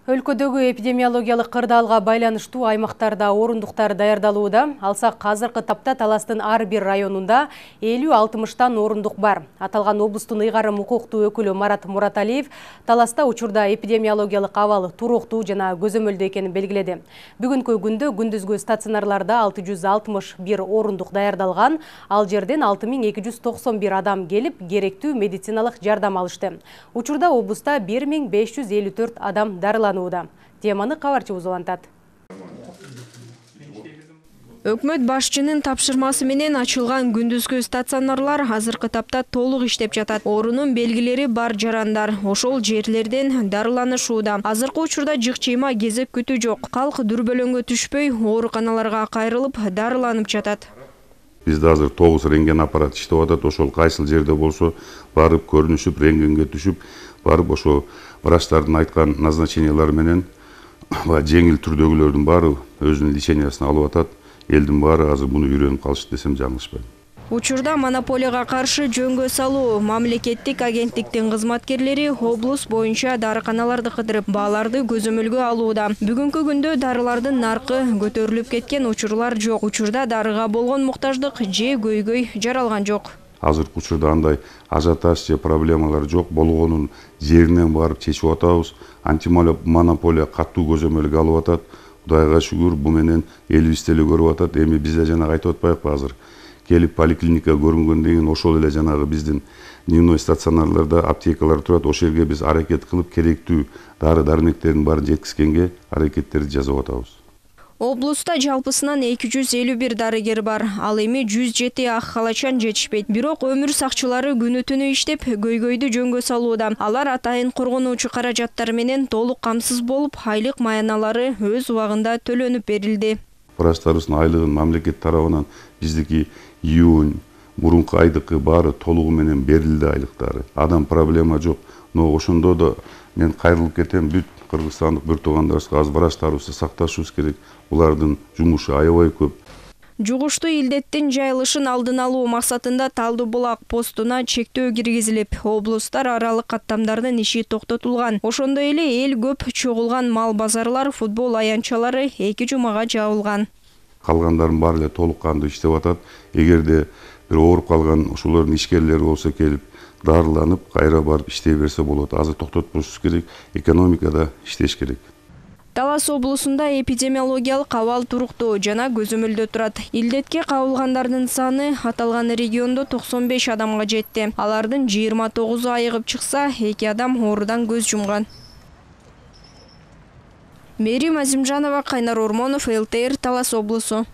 Өлкөдөгү эпидемиологиялык кырдаалга байланыштуу аймактарда орундуктар даярдалууда. Алсак азыркы тапта Таластын ар бир районунда 50-60 орундук бар. Аталган облустун ыйгарым укуктуу өкүлү Марат Мураталиев Таласта учурда эпидемиологиялык абал туруктуу жана көзөмөлдүү экенин белгиледи. Бүгүнкү күндө күндүзгү стационарларда 661 орундук даярдалган, ал жерден 6291 адам келип, керектүү медициналык жардам алышты. Учурда облуста 1554 адам дарыланды. Теманы кабарчыбыз улантат. Өкмөт башчынын тапшырмасы менен ачылган күндүзгү стационарлар азыркы тапта толук иштеп жатат. Оорунун белгилери бар жарандар ошол жерлерден дарыланышууда. Азыркы учурда жык-чыйма кезек күтүү жок. Калк дүрбөлөңгө түшпөй ооруканаларга кайрылып дарыланып жатат. Бизде азыр 9 рентген аппарат иштеп атат. Ошол кайсыл жерде болсо барып көрүнүшүп, рентгенге түшүп, барып ошо врачтардын айткан назначениялары менен жеңил түрдөгүлөрдүн баары өзүнүн лечениясын алып атат. Элдин баары азыр муну үйрөнүп калышты десем жаңылышпайм. Учурда монополияга каршы жөнгө салуу мамлекеттик агенттиктин кызматкерлери облус боюнча дарыканаларды кыдырып, бааларды көзөмөлгө алууда. Бүгүнкү күндө дарылардын наркы көтөрүлүп кеткен учурлар жок. Учурда дарыга болгон муктаждык же көйгөй жаралган жок. Азыркы учурда андай ажиотаж же проблемалар жок. Болгонун жеринен барып чечип атабыз. Антимонополия катуу көзөмөлгө алып атат. Кудайга шүгүр, бу менен элибиз деле көрүп атат. Эми бизде жанагы айтып атпайбы азыр? Келип поликлиника көрүнгөндөн кийин ошол эле жанагы биздин дневной стационарларда аптекалар турат. Ошол жерге биз аракет кылып керектүү дары-дармектердин баарын жеткизгенге аракеттерди жасап атабыз. Облуста жалпысынан 251 дарыгер бар. Ал эми 107 ак халачан жетишпейт. Бирок өмүр сакчылары күнү-түнү иштеп, көйгөйдү жөнгө салууда. Алар атайын коргонуучу каражаттар менен толук камсыз болуп, айлык маяналары өз убагында төлөнүп берилди. Врачтарыбыздын айлыгын мамлекет тарабынан биздики июнь, мурунку айдыкы баары толугу менен берилди айлыктары. Адам проблема жок. Но ошондо да мен кайрылып кетем, бүт кыргызстандык бир туугандарыбызга аз врачтарыбызды сакташыбыз керек. Улардын жумушу аябай көп. Жугуштуу илдеттин жайылышын алдын алуу максатында Талды булак постуна чектөө киргизилип, облустар аралык каттамдардын иши токтотулган. Ошондой эле эл көп чогулган мал базарлар, футбол аянтчалары 2 жумага жабылган. Калгандардын баары эле толук кандуу иштеп атат. Эгерде бир ооруп калган ошолордун ишкерлери болсо келип дарыланып, кайра барып иштей берсе болот. Азыр токтотпошубуз керек, экономикада иштеш керек. Талас облусунда эпидемиологиялык абал туруктуу жана көзөмөлдө турат. Илдетке кабылгандардын саны аталган региондо 95 адамга жетти. Алардын 29 айыгып чыкса, 2 адам оорудан көз жумган. Мерим Азимжанова, Кайнар Ормонов, ЛТР, Талас облусу.